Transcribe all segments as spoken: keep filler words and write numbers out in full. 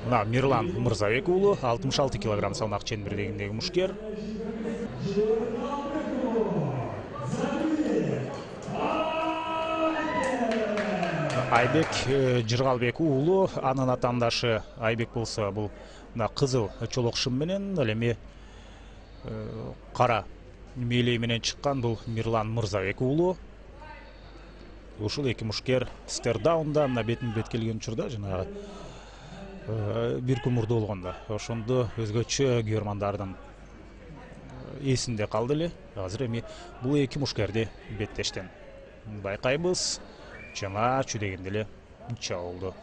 Мына Мирлан Мырзабек уулу алтымыш алты килограмм салмак ченбирдегиндеги мушкер. Айбек Жыргалбек уулу, анын атаандашы Айбек болсо бул мына кызыл чолок шым менен, ал эми кара мээлей менен чыккан бул Мирлан Мырзабек уулу. Ушул эки мушкер стердаунда мына бетин бет келген учурда жанагы бир күн мурда болгондо ошондо өзгөчө көрмандардын эсинде калды эле. Азыр эми бул эки мушкерди беттештен байкайбыз. Жана чүдегенде эле чабуулду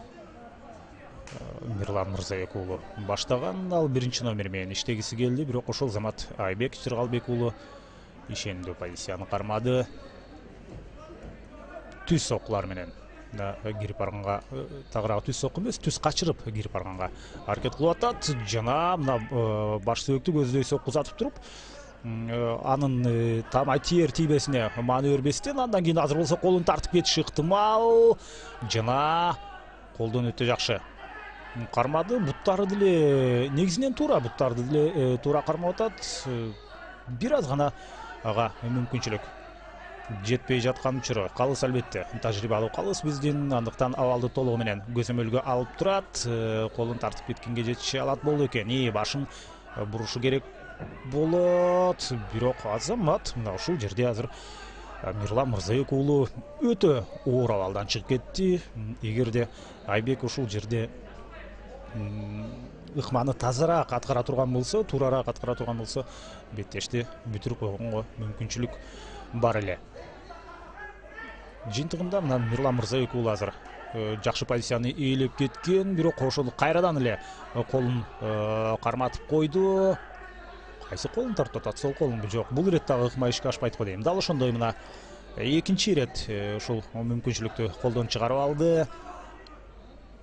Мирлан Мырзабек уулу баштаган, ал биринчи номер менен иштегиси келди, бирок ошол замат Айбек Жыргалбек уулу ишендүү позицияны кармады. Түз соккулар менен кирип барганга, тагыраагы түз сокку эмес, түз качырып кирип барганга аракет кылып атат. Жана мына баш сөөктү көздөй сокку узатып туруп, анын тамай тиер тийбесине маани бербестен, андан кийин азыр болсо колун тартып кетиши ыктымал. Жана колдон өтө жакшы кармады. Буттары деле негизинен туура, буттарды деле туура кармап атат. Бир аз гана ага мүмкүнчүлүк жетпей жаткан учуру калыс, албетте тажрыйбалуу калыс биздин, андыктан абалды толугу менен көзөмөлгө алып турат. Колун тартып кеткенге жетише алат болду экен. И башын бурушу керек болот, бирок азамат мына ушул жерде азыр Мирлан Мырзабек уулу өтө оор абалдан чыгып кетти. Эгерде Айбек ушул жерде ыкманы тазараак аткара турган болсо, туурараак аткара турган болсо, беттешти бүтүрүп койгонго мүмкүнчүлүк бар эле. Жыйынтыгында мына Мирлан Мырзабек уулу азыр жакшы позицияны ээлеп кеткен, бирок ошол кайрадан эле колун карматып койду. Кайсы колун тартып атат? Сол колунбу? Жок, бул ирет дагы ыкма ишке ашпайт го дейм. Дал ошондой мына экинчи ирет ушул мүмкүнчүлүктү колдон чыгарып алды.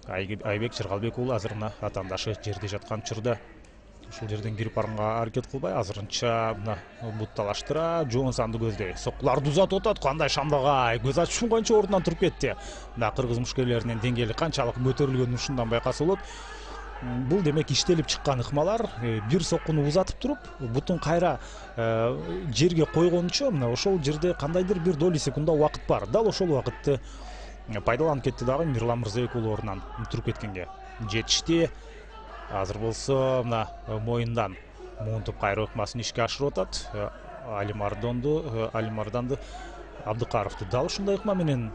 Айбек Жыргалбек уулу азыр мына атаандашы жерде жаткан учурда ушул жерден кирип барганга аракет кылбай, азырынча мына бутталаштыра, жоон санды көздөй соккуларды узатып атат. Кандай шамдагай, көз ачып шумганча ордунан туруп кетти. Мына кыргыз мушкерлеринин деңгээли канчалык көтөрүлгөнүн ушундан байкаса болот. Бул демек иштелип чыккан ыкмалар. Бир соккуну узатып туруп, бутун кайра жерге койгончо мына ошол жерде кандайдыр бир доли секунда убакыт бар. Дал ошол убакытты пайдаланып кетти дагы Мирлан Мырзабек уулу ордунан туруп кеткенге жетишти. Азыр болсо мына моюндан муунтуп кайруу ыкмасын ишке ашырып атат. Алимардонду, Алимарданды Абдыкаровду дал ушундай ыкма менен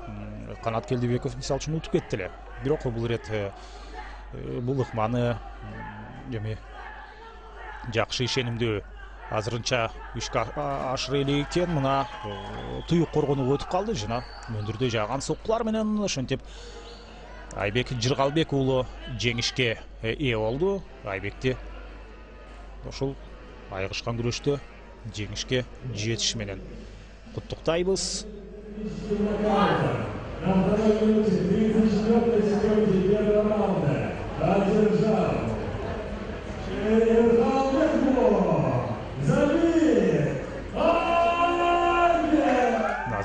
Канат Келдибеков мисалы үчүн утуп кетти эле. Бирок бул ирет бул ыкманы эми жакшы ишенимдүү азырынча ишке ашыра элек экен. Мына туюк коргонууга өтүп калды жана мөндүрдөй жааган соккулар менен ошентип Айбек Жыргалбек уулу жеңишке ээ болду. Айбекти ошол айыгышкан күрөштө жеңишке жетиши менен куттуктайбыз.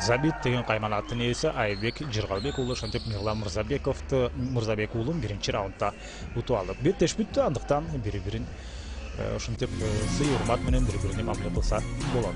Забит деген кайманаттын ээси Айбек Жыргалбек уулу ошентип Мирлан Мырзабековду Мырзабек уулун биринчи раундда утуп алды. Беттеш бүттү, андыктан бири-бирин ошентип сый урмат менен бири-бирине мамиле кылса болот.